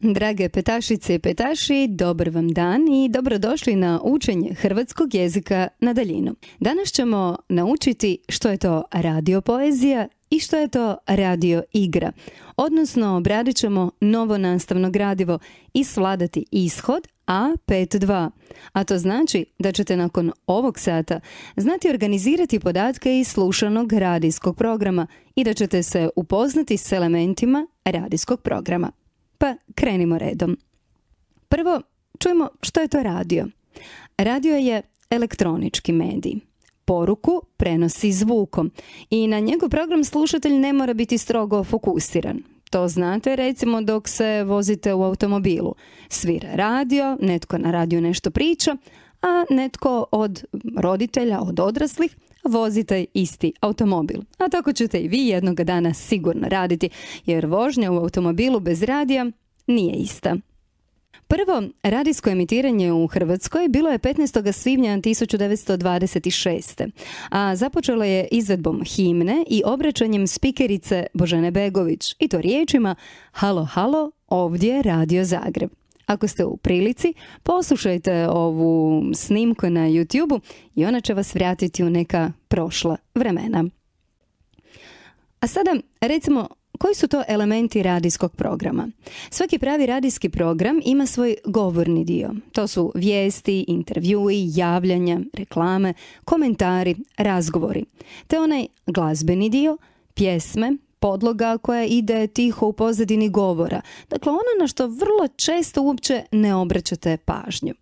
Drage petašice i petaši, dobar vam dan i dobrodošli na učenje hrvatskog jezika na daljinu. Danas ćemo naučiti što je to radiopoezija i što je to radio igra. Odnosno, obradit ćemo novo nastavno gradivo i svladati ishod A5.2. A to znači da ćete nakon ovog sata znati organizirati podatke iz slušanog radijskog programa i da ćete se upoznati s elementima radijskog programa. Pa krenimo redom. Prvo, čujemo što je to radio. Radio je elektronički medij. Poruku prenosi zvukom i na njegov program slušatelj ne mora biti strogo fokusiran. To znate recimo dok se vozite u automobilu. Svira radio, netko na radiju nešto priča, a netko od roditelja, od odraslih, vozi taj isti automobil. A tako ćete i vi jednoga dana sigurno raditi, jer vožnja u automobilu bez radija nije ista. Prvo radijsko emitiranje u Hrvatskoj bilo je 15. svibnja 1926. a započelo je izvedbom himne i obraćanjem spikerice Božene Begović, i to riječima "Halo, halo, ovdje je Radio Zagreb". Ako ste u prilici, poslušajte ovu snimku na YouTube-u i ona će vas vratiti u neka prošla vremena. A sada, recimo, koji su to elementi radijskog programa? Svaki pravi radijski program ima svoj govorni dio. To su vijesti, intervjui, javljanja, reklame, komentari, razgovori. Te onaj glazbeni dio, pjesme, podloga koja ide tiho u pozadini govora. Dakle, ono na što vrlo često uopće ne obraćate pažnju.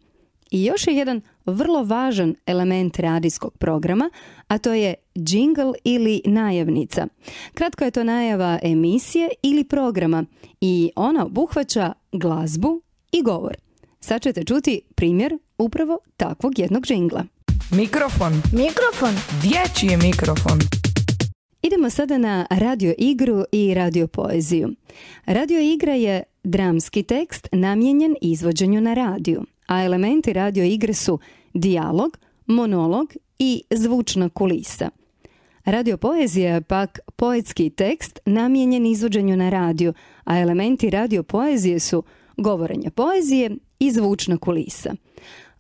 I još je jedan vrlo važan element radijskog programa, a to je džingl ili najavnica. Kratko je to najava emisije ili programa i ona obuhvaća glazbu i govor. Sad ćete čuti primjer upravo takvog jednog džingla. Mikrofon. Dječji je mikrofon. Idemo sada na radio igru i radio poeziju. Radio igra je dramski tekst namijenjen izvođenju na radiju, a elementi radio igre su dijalog, monolog i zvučna kulisa. Radio poezija je pak poetski tekst namijenjen izvođenju na radiju, a elementi radio poezije su govorenje poezije i zvučna kulisa.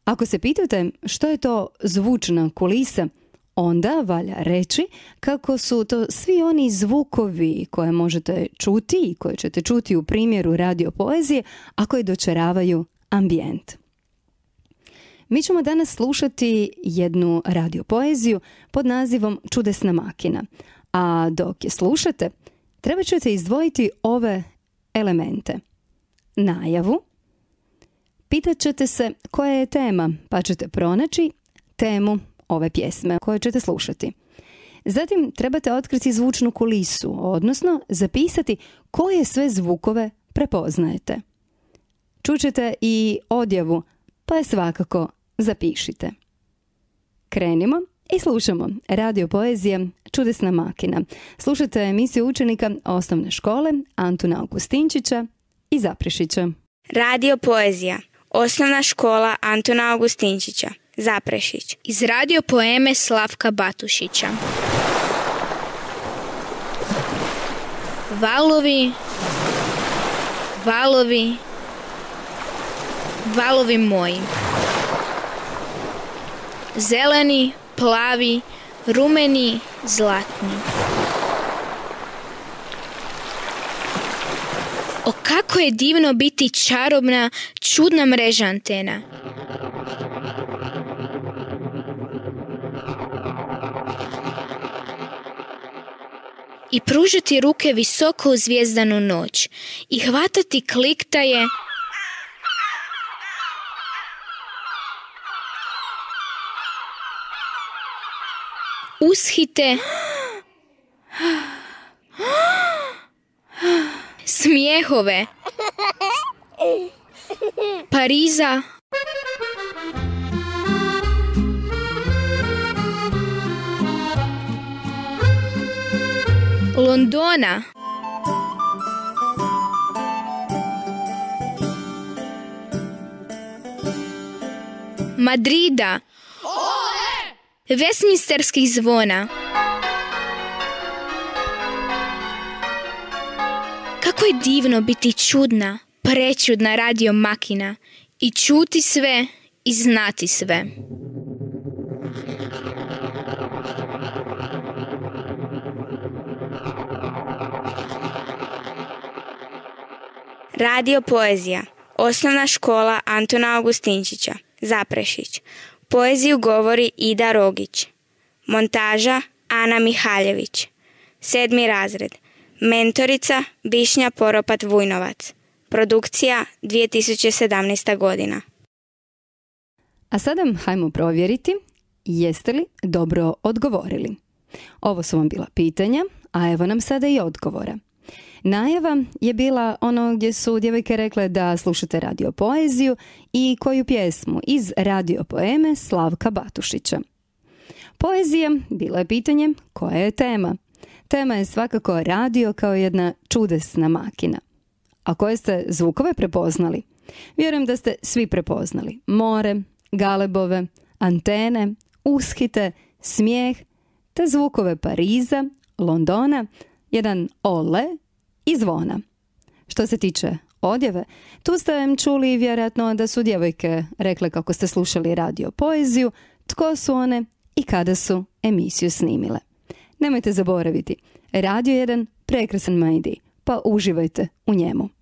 Ako se pitate što je to zvučna kulisa, onda valja reći kako su to svi oni zvukovi koje možete čuti i koje ćete čuti u primjeru radio poezije, a koji dočaravaju ambijent. Mi ćemo danas slušati jednu radio poeziju pod nazivom Čudesna makina, a dok je slušate, treba ćete izdvojiti ove elemente. Najavu, pitat ćete se koja je tema, pa ćete pronaći temu ove pjesme koje ćete slušati. Zatim trebate otkriti zvučnu kulisu, odnosno zapisati koje sve zvukove prepoznajete. Čućete i odjavu, pa je svakako zapišite. Krenimo i slušamo radio poezija Čudesna makina. Slušate emisiju učenika osnovne škole Antuna Augustinčića i Zaprešića. Radio poezija Osnovna škola Antuna Augustinčića, Zaprešić. Iz radio poeme Slavka Batušića. Valovi, valovi, valovi moji. Zeleni, plavi, rumeni, zlatni. O, kako je divno biti čarobna, čudna mreža antena. I pružiti ruke visoko u zvijezdanu noć i hvatati kliktaje ushite smijehove Pariza, Londona, Madrida, Westminsterskih zvona. Kako je divno biti čudna, prečudna radio makina i čuti sve i znati sve. Radio Poezija. Osnovna škola Antuna Augustinčića. Zaprešić. Poeziju govori Ida Rogić. Montaža Ana Mihaljević. 7. razred. Mentorica Višnja Poropat Vujnovac. Produkcija 2017. godina. A sada hajmo provjeriti jeste li dobro odgovorili. Ovo su vam bila pitanja, a evo nam sada i odgovora. Najava je bila ono gdje su djevojke rekle da slušate Radio Poeziju i koju pjesmu iz radio poeme Slavka Batušića. Poezija bilo je pitanje koja je tema. Tema je svakako radio kao jedna čudesna makina. A koje ste zvukove prepoznali? Vjerujem da ste svi prepoznali. More, galebove, antene, ushite, smijeh, te zvukove Pariza, Londona, jedan ole i zvona. Što se tiče odjeve, tu ste čuli vjerojatno da su djevojke rekle kako ste slušali Radio Poeziju, tko su one i kada su emisiju snimile. Nemojte zaboraviti, radio je jedan prekrasan medij, pa uživajte u njemu.